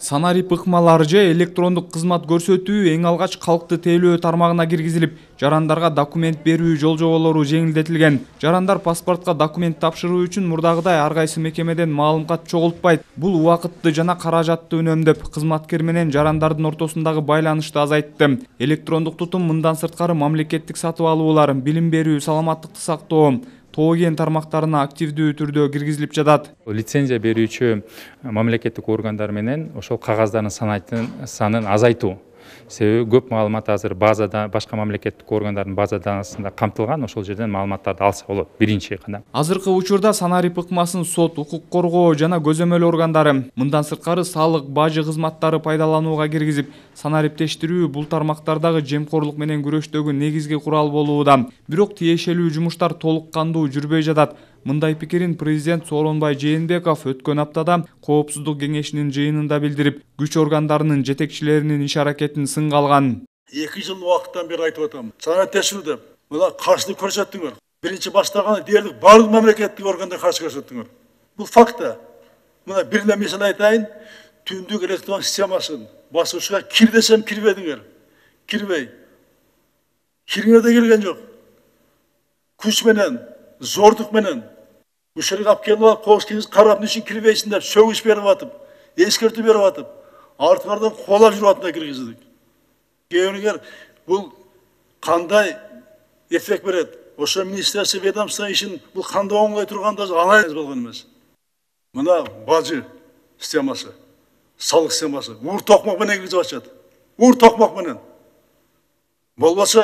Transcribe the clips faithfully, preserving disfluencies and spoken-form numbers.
Санарип ыкмалар же электрондук кызмат көрсөтүү эң алгач калкты тейлөө тармагына киргизилип, жарандарга документ берүү жол-жоболору жеңилдетилген. Жарандар паспортко документ тапшыруу үчүн мурдагыдай ар кайсы мекемеден маалымат чогултпайт. Бул убакытты жана каражатты үнөмдөп, кызматкер менен жарандардын ортосундагы байланышты азайтты. Электрондук тутум мындан сырткары мамлекеттик сатып алуулар, билим берүү, саламаттыкты сактоо, ТОО-ген тармактарына активдүү түрдө киргизилип жатат. Лицензия берүүчү мамлекеттик органдар менен ошол кагаздардын санын азайтуу. Себеби көп маалымат азыр базада, башка мамлекеттик органдардын базасында камтылган, ошол жерден маалыматтарды алса болот. Биринчи кадам. Азыркы учурда санарип ыкмасын сот, укук коргоо жана көзөмөл органдары, мындан сырткары салык, бажы кызматтары пайдаланууга киргизип, санариптештирүү бул тармактардагы жемкорлук менен күрөштөгү негизги курал болууда. Бирок тиешелүү жумуштар толук кандуу жүрбөй жатат. Мындай пикирин президент Сооронбай Жээнбеков өткөн аптада Коопсуздук кеңешинин жыйынында билдирип, күч органдарынын жетекчилеринин иш аракетин сынга алган. эки жыл убакыттан бери айтып атам. Санариптештирүүдө мына каршылык көрсөттүңөр. Биринчи баштаганда дээрлик бардык мамлекеттик органдар каршы көрсөттүңөр. Бул факт. Мына бир эле мисал айтайын. Түндүк электрон системасын басуучуга кир десем кирбедиңер. Кирбей. Кириңер да келген жок. Күч менен, зордук менен ушерге алып келип алып, коопсуздук карап, ничек кирбейсиң деп сөгүш берип атып, эскертүү берип атып, артыңардан кубалап жүрүп атында киргиздик. Кийинкилер бул кандай эффект берет? Ошо министерство ведомство ишин бул кандай оңой турганда анализ болгон эмес. Мына бажы системасы, салык системасы ур токмок менен киргизип атышат. Ур токмок менен. Болбосо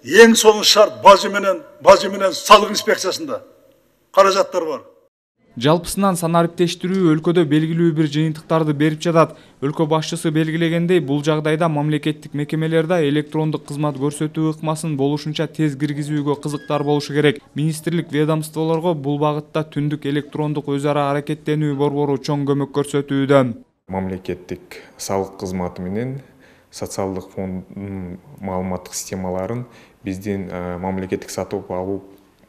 эң сонун шарт бажы менен, бажы менен салык инспекциясында каражаттар бар. Жалпысынан санариптештирүү өлкөдө белгилүү бир жыйынтыктарды берип жатат. Өлкө башчысы белгилегендей, бул жагдайда мамлекеттик мекемелерде электрондук кызмат көрсөтүү ыкмасын болушунча тез киргизүүгө кызыктар болушу керек. Министрлик ведомстволорго бул багытта түндүк электрондук өз ара аракеттенүү борбору чоң көмөк көрсөтүүдө. Мамлекеттик салык кызматы менен социалдык фонддун маалыматтык системаларын биздин мамлекеттик сатып алуу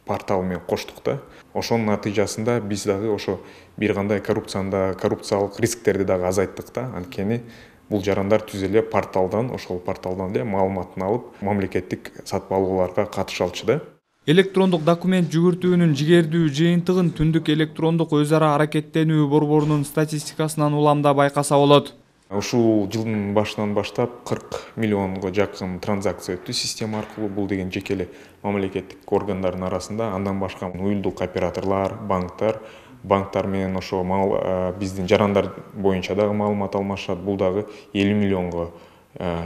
порталы менен коштук да. Ошонун натыйжасында биз дагы ошо бир кандай коррупцияда, коррупциялык рисктерди дагы азайттык да. Анткени бул жарандар түз эле порталдан, ошол порталдан эле маалыматын алып, мамлекеттик сатып алууларга катыша алчу да. Электрондук документ жүгүртүүнүн жигердүү жыйынтыгын түндүк электрондук өз ара аракеттенүү борборунун статистикасынан уламда байкаса болот. Ушул жылдын башынан баштап кырк миллионго жакын транзакция өттү система аркылуу. Бул деген жеке эле мамлекеттик органдардын арасында, андан башка уюлдук операторлор, банктар, банктар менен ошо биздин жарандар боюнча дагы маалымат алмашат. Бул дагы элүү миллионго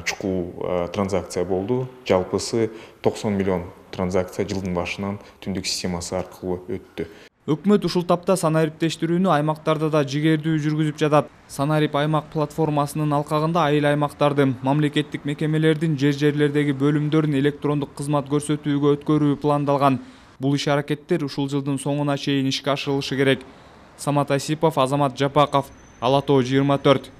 чукул транзакция болду. Жалпысы токсон миллион транзакция жылдын башынан түндүк системасы аркылуу өттү. Өкмөт ушул тапта санариптештирүүнү аймактарда да жигердүү жүргүзүп жатат. Санарип аймак платформасынын алкагында айыл аймактарды, мамлекеттик мекемелердин жер-жерлердеги бөлүмдөрүн электрондук кызмат көрсөтүүгө өткөрүү пландалган. Бул иш аракеттер ушул жылдын соңуна чейин ишке ашырылышы керек. Самат Асипов, Азамат Жапаков, Ала Тоо жыйырма төрт.